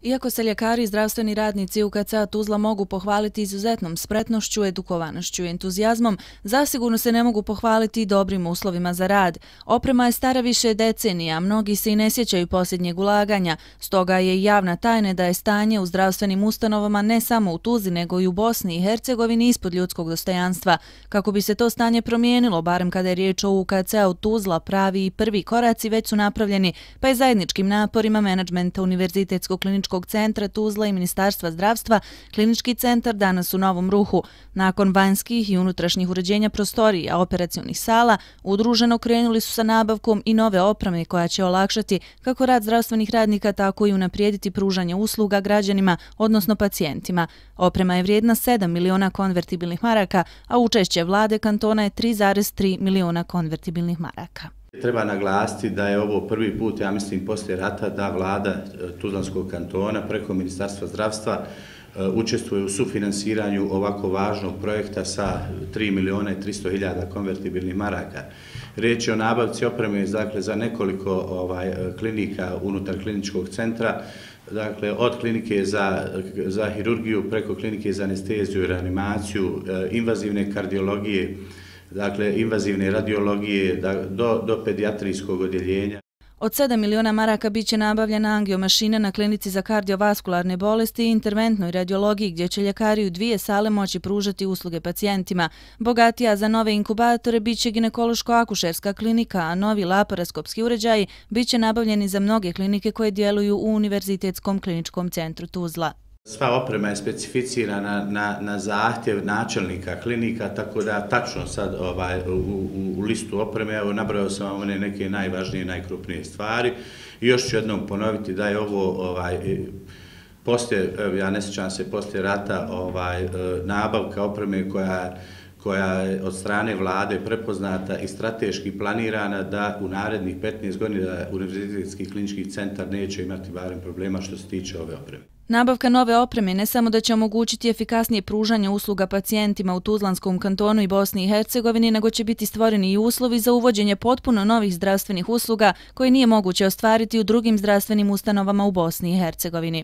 Iako se ljekari i zdravstveni radnici UKC-a Tuzla mogu pohvaliti izuzetnom spretnošću, edukovanošću i entuzijazmom, zasigurno se ne mogu pohvaliti i dobrim uslovima za rad. Oprema je stara više decenija, a mnogi se i ne sjećaju posljednjeg ulaganja, stoga je i javna tajna da je stanje u zdravstvenim ustanovama ne samo u Tuzli, nego i u Bosni i Hercegovini ispod ljudskog dostojanstva. Kako bi se to stanje promijenilo, barem kada je riječ o UKC-u Tuzla, pravi i prvi koraci već su napravljeni, pa je zajedničkim naporima menadžmenta Univerzitetskog kliničkog centra Tuzla i Ministarstva zdravstva klinički centar danas u novom ruhu. Nakon vanjskih i unutrašnjih uređenja prostorija, operacionih sala, udruženo krenuli su sa nabavkom i nove opreme koja će olakšati kako rad zdravstvenih radnika, tako i unaprijediti pružanje usluga građanima, odnosno pacijentima. Oprema je vrijedna 7 miliona konvertibilnih maraka, a učešće vlade kantona je 3,3 miliona konvertibilnih maraka. Treba naglasiti da je ovo prvi put, ja mislim, poslije rata da vlada Tuzlanskog kantona preko Ministarstva zdravstva učestvuje u sufinansiranju ovako važnog projekta sa 3 miliona i 300 hiljada konvertibilnih maraka. Riječ je o nabavci opreme za nekoliko klinika unutar kliničkog centra, dakle od klinike za hirurgiju preko klinike za anesteziju i reanimaciju, invazivne kardiologije, dakle invazivne radiologije do pedijatrijskog odjeljenja. Od 7 miliona maraka biće nabavljena angiomašina na klinici za kardiovaskularne bolesti i interventnoj radiologiji, gdje će ljekari u 2 sale moći pružati usluge pacijentima. Bogatija za nove inkubatore biće ginekološko-akušerska klinika, a novi laparoskopski uređaji biće nabavljeni za mnoge klinike koje djeluju u Univerzitetskom kliničkom centru Tuzla. Sva oprema je specificirana na zahtjev načelnika klinika, tako da tačno sad u listu opreme, evo nabrojao sam vam one neke najvažnije, najkrupnije stvari. I još ću jednom ponoviti da je ovo poslije, ja ne sjećam se, poslije rata nabavka opreme koja je od strane vlade prepoznata i strateški planirana da u narednih 15 godina Univerzitetski klinički centar neće imati barem problema što se tiče ove opreme. Nabavka nove opreme ne samo da će omogućiti efikasnije pružanje usluga pacijentima u Tuzlanskom kantonu i Bosni i Hercegovini, nego će biti stvoreni i uslovi za uvođenje potpuno novih zdravstvenih usluga koje nije moguće ostvariti u drugim zdravstvenim ustanovama u Bosni i Hercegovini.